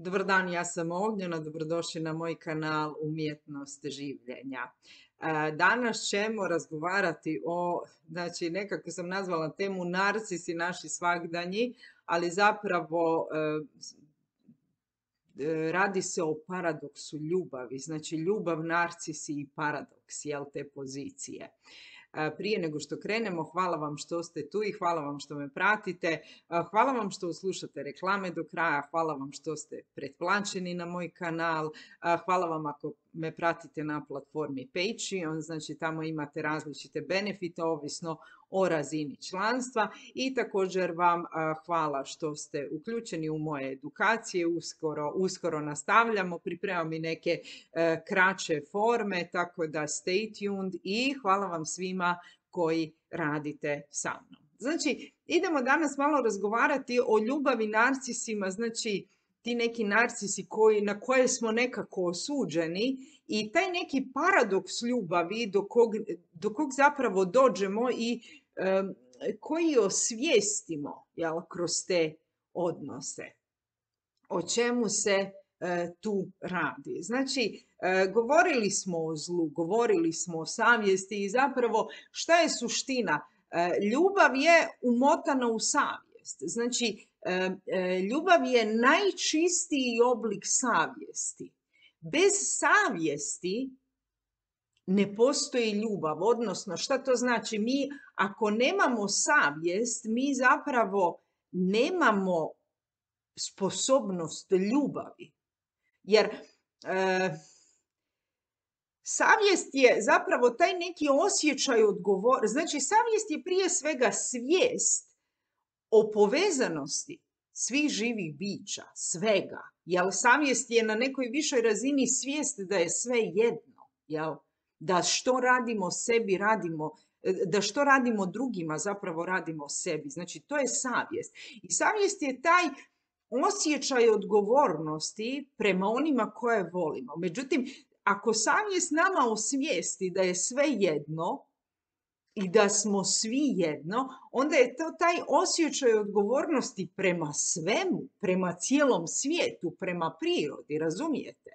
Dobar dan, ja sam Ognjena, dobrodošli na moj kanal Umjetnost življenja. Danas ćemo razgovarati znači nekako sam nazvala temu narcisi naši svagdanji, ali zapravo radi se o paradoksu ljubavi, znači ljubav, narcisi i paradoks, jel, te pozicije. Prije nego što krenemo, hvala vam što ste tu i hvala vam što me pratite. Hvala vam što slušate reklame do kraja, hvala vam što ste pretplaćeni na moj kanal, hvala vam ako me pratite na platformi Patreon, znači tamo imate različite benefite ovisno o razini članstva i također vam hvala što ste uključeni u moje edukacije, uskoro nastavljamo, pripremam i neke kraće forme, tako da stay tuned i hvala vam svima koji radite sa mnom. Znači, idemo danas malo razgovarati o ljubavi, narcisima, znači ti neki narcisi na koje smo nekako osuđeni i taj neki paradoks ljubavi do kog zapravo dođemo i koji osvijestimo, jel, kroz te odnose. O čemu se tu radi? Znači, govorili smo o zlu, govorili smo o savjesti i zapravo šta je suština? Ljubav je umotana u savjest. Znači, ljubav je najčistiji oblik savjesti. Bez savjesti ne postoji ljubav, odnosno šta to znači? Mi ako nemamo savjest, mi zapravo nemamo sposobnost ljubavi. Jer savjest je zapravo taj neki osjećaj odgovornosti. Znači, savjest je prije svega svijest o povezanosti svih živih bića, svega. Jel, savjest je na nekoj višoj razini svijest da je sve jedno. Jel? Da što radimo sebi, da što radimo drugima, zapravo radimo sebi. Znači, to je savjest. I savjest je taj osjećaj odgovornosti prema onima koje volimo. Međutim, ako savjest nama osvijesti da je sve jedno i da smo svi jedno, onda je to taj osjećaj odgovornosti prema svemu, prema cijelom svijetu, prema prirodi, razumijete?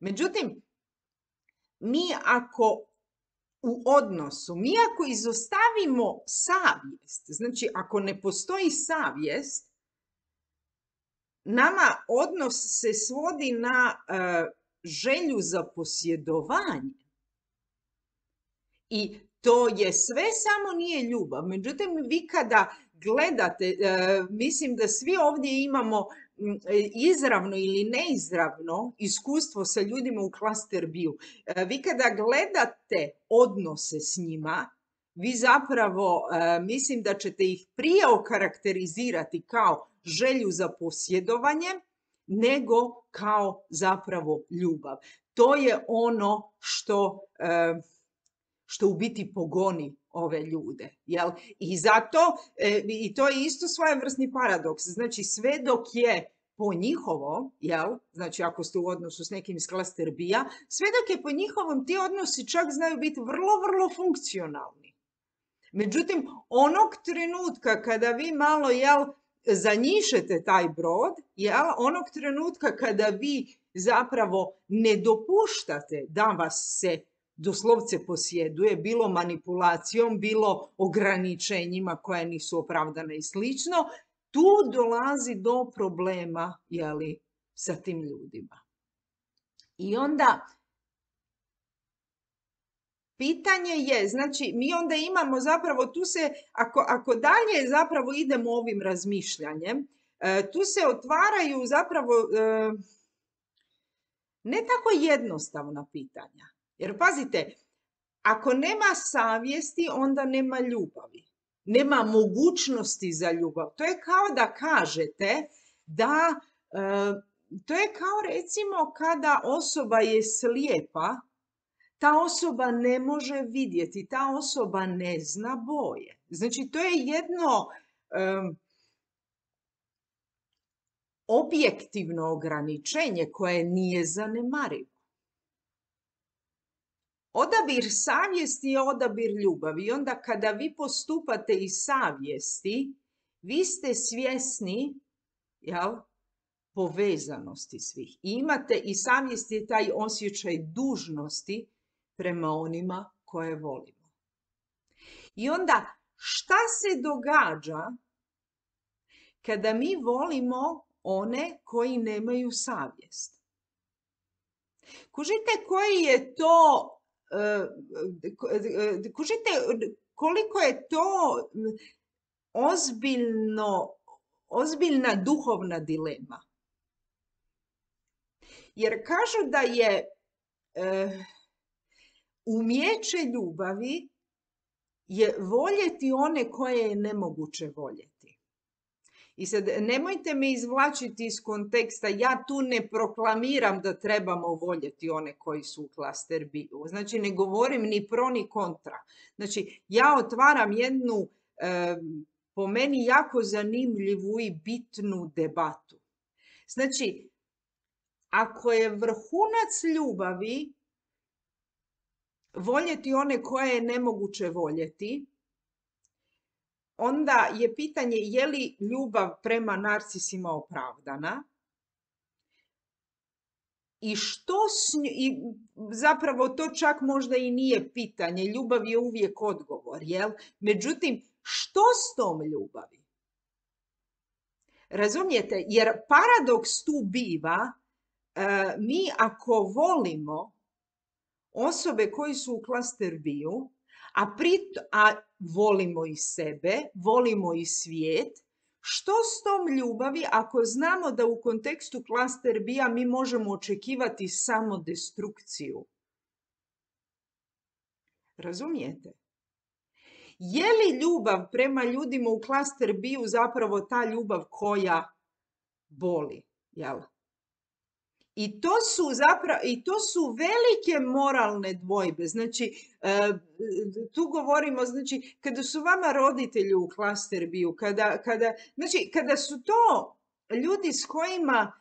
Međutim, mi ako izostavimo savjest, znači ako ne postoji savjest, nama odnos se svodi na želju za posjedovanje. I to je sve, samo nije ljubav. Međutim, vi kada gledate, mislim da svi ovdje imamo izravno ili neizravno iskustvo sa ljudima u cluster B-u. Vi kada gledate odnose s njima, vi zapravo mislim da ćete ih prije okarakterizirati kao želju za posjedovanje nego kao zapravo ljubav. To je ono što u biti pogoni ove ljude. Jel? I zato, i to je isto svojevrsni paradoks, znači sve dok je po njihovom, jel? Znači ako ste u odnosu s nekim iz cluster B-a, sve dok je po njihovom ti odnosi čak znaju biti vrlo, vrlo funkcionalni. Međutim, onog trenutka kada vi malo, jel, zanjišete taj brod, jel, onog trenutka kada vi zapravo ne dopuštate da vas se doslovce posjeduje, bilo manipulacijom, bilo ograničenjima koja nisu opravdane i slično, tu dolazi do problema, jeli, sa tim ljudima. I onda pitanje je, znači mi onda imamo zapravo, tu se, ako dalje zapravo idemo ovim razmišljanjem, tu se otvaraju zapravo ne tako jednostavna pitanja. Jer pazite, ako nema savjesti, onda nema ljubavi. Nema mogućnosti za ljubav. To je kao da kažete da, to je kao recimo kada osoba je slijepa, ta osoba ne može vidjeti, ta osoba ne zna boje. Znači, to je jedno objektivno ograničenje koje nije zanemarivo. Odabir savjesti je odabir ljubavi. I onda kada vi postupate iz savjesti, vi ste svjesni, jel, povezanosti svih. I imate i savjest je taj osjećaj dužnosti prema onima koje volimo. I onda šta se događa kada mi volimo one koji nemaju savjest? Kužite koji je to, kužite koliko je to ozbiljna duhovna dilema. Jer kažu da je umijeće ljubavi je voljeti one koje je nemoguće voljeti. I sad nemojte me izvlačiti iz konteksta, ja tu ne proklamiram da trebamo voljeti one koji su u klaster B-u. Znači ne govorim ni pro ni kontra. Znači ja otvaram jednu po meni jako zanimljivu i bitnu debatu. Znači, ako je vrhunac ljubavi voljeti one koje je nemoguće voljeti, onda je pitanje je li ljubav prema narcisima opravdana i i zapravo to čak možda i nije pitanje, ljubav je uvijek odgovor, jel? Međutim, što s tom ljubavi? Razumijete? Jer paradoks tu biva, mi ako volimo osobe koji su u klaster B-u, a volimo i sebe, volimo i svijet, što s tom ljubavi ako znamo da u kontekstu klaster B-a mi možemo očekivati samo destrukciju? Razumijete? Je li ljubav prema ljudima u klaster B-u zapravo ta ljubav koja boli? Jel? I to su velike moralne dvojbe. Znači, tu govorimo, znači, kada su vama roditelji u klaster B-u, kada su to ljudi s kojima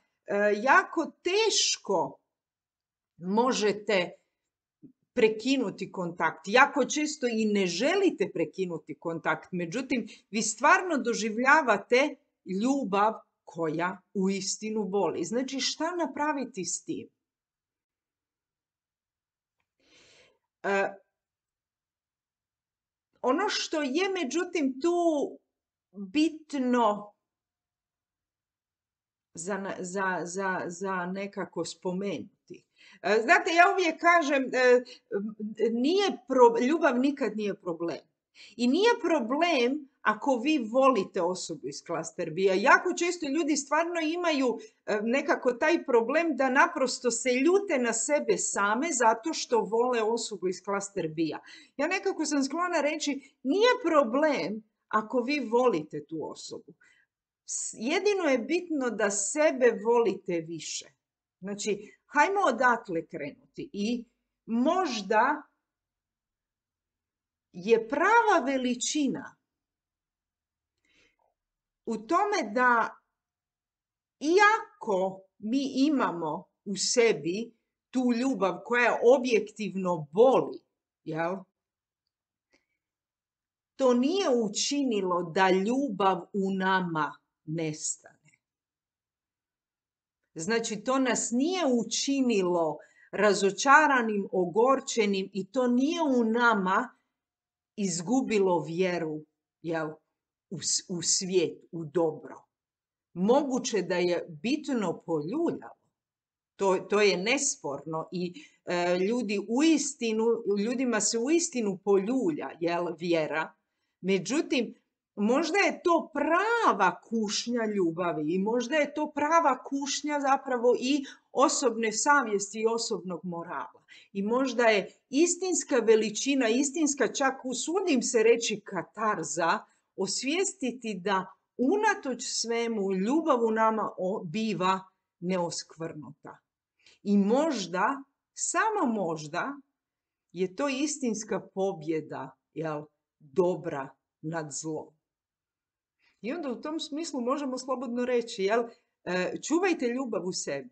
jako teško možete prekinuti kontakt. Jako često i ne želite prekinuti kontakt. Međutim, vi stvarno doživljavate ljubav koja uistinu boli. Znači, šta napraviti s tim? Ono što je, međutim, tu bitno za nekako spomenuti. Znate, ja uvijek kažem, ljubav nikad nije problem. I nije problem ako vi volite osobu iz klaster B-a. Jako često ljudi stvarno imaju nekako taj problem da naprosto se ljute na sebe same zato što vole osobu iz klaster B-a. Ja nekako sam sklona reći, nije problem ako vi volite tu osobu. Jedino je bitno da sebe volite više. Znači, hajmo odatle krenuti i možda je prava veličina u tome da iako mi imamo u sebi tu ljubav koja objektivno boli, jel? To nije učinilo da ljubav u nama nestane. Znači, to nas nije učinilo razočaranim, ogorčenim i to nije u nama izgubilo vjeru, jel, u svijet, u dobro. Moguće da je bitno poljuljalo. To je nesporno i ljudima se uistinu poljulja, jel, vjera. Međutim, možda je to prava kušnja ljubavi i možda je to prava kušnja zapravo i osobne savjesti i osobnog morala. I možda je istinska veličina, istinska, čak usudim se reći katarza, osvijestiti da unatoč svemu ljubav u nama biva neoskvrnuta. I možda, samo možda, je to istinska pobjeda, jel, dobra nad zlom. I onda u tom smislu možemo slobodno reći, jel, čuvajte ljubav u sebi,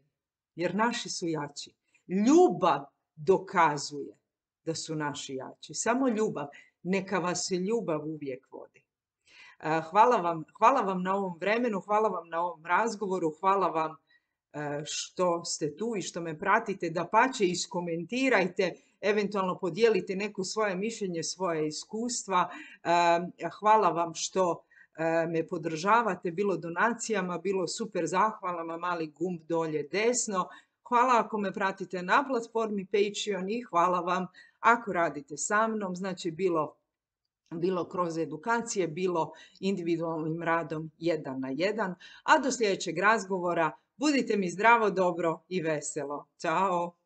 jer naši su jači. Ljubav dokazuje da su naši jači. Samo ljubav. Neka vas ljubav uvijek vodi. Hvala vam na ovom vremenu, hvala vam na ovom razgovoru, hvala vam što ste tu i što me pratite. Dapače, iskomentirajte, eventualno podijelite neko svoje mišljenje, svoje iskustva. Hvala vam što me podržavate, bilo donacijama, bilo super zahvalama, mali gumb dolje desno. Hvala ako me pratite na platformi Patreon i hvala vam ako radite sa mnom, znači bilo kroz edukacije, bilo individualnim radom 1 na 1. A do sljedećeg razgovora budite mi zdravo, dobro i veselo. Ćao!